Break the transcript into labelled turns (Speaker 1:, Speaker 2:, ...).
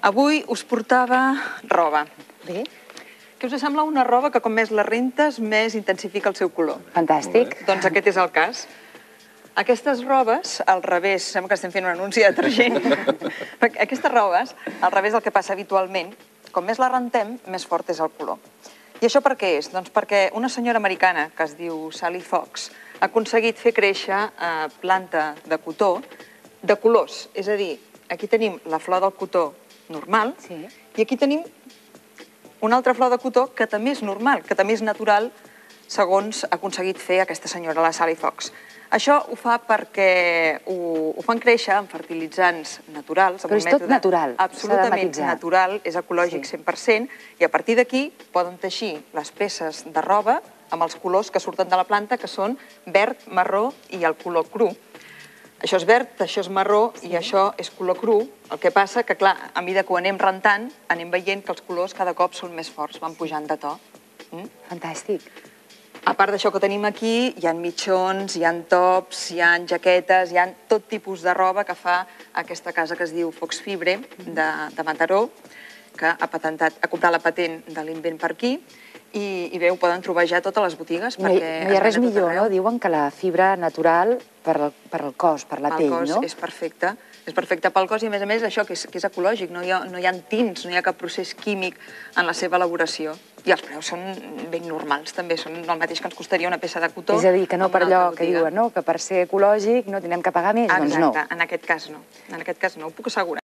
Speaker 1: Avui us portava roba.
Speaker 2: Bé,
Speaker 1: Què us sembla una roba que com més la rentes, més intensifica el seu color?
Speaker 2: fantàstic.
Speaker 1: Doncs aquest és el cas. Aquestes robes, al revés, sembla que estem fent un anunci de detergent. Aquestes robes, al revés del que passa habitualment, com més la rentem, més fort és el color. I això per què és? Doncs perquè una senyora americana, que es diu Sally Fox, ha aconseguit fer créixer planta de cotó de colors. És a dir, aquí tenim la flor del cotó normal i aquí tenim una altra flor de cotó que també és normal, que també és natural, segons ha aconseguit fer aquesta senyora, la Sally Fox. Això ho fa perquè ho fan créixer amb fertilitzants naturals.
Speaker 2: Però és tot natural, s'ha de
Speaker 1: absolutament
Speaker 2: matisar.
Speaker 1: natural, és ecològic 100%, i a partir d'aquí poden teixir les peces de roba amb els colors que surten de la planta, que són verd, marró i el color cru. Això és verd, això és marró i això és color cru. El que passa que, clar, a mesura que ho anem rentant, anem veient que els colors cada cop són més forts, van pujant de to.
Speaker 2: Fantàstic.
Speaker 1: A part d'això que tenim aquí, hi ha mitjons, hi ha tops, hi ha jaquetes, hi ha tot tipus de roba que fa aquesta casa que es diu Fox Fibre, de Mataró, que ha comprat la patent de l'invent per aquí, i bé, ho poden trobar ja a totes les botigues.
Speaker 2: No hi ha res millor, no? Diuen que la fibra natural per al cos, per la pell, no?
Speaker 1: Pel cos és perfecte. És perfecte pel cos i, a més, això que és ecològic. No hi ha tints, no hi ha cap procés químic en la seva elaboració. I els preus són ben normals, també. Són el mateix que ens costaria una peça de cotó.
Speaker 2: És a dir, que no per allò que diuen, no? Que per ser ecològic no tindrem que pagar més. Doncs no.
Speaker 1: Exacte, en aquest cas no. En aquest cas no, ho puc assegurar.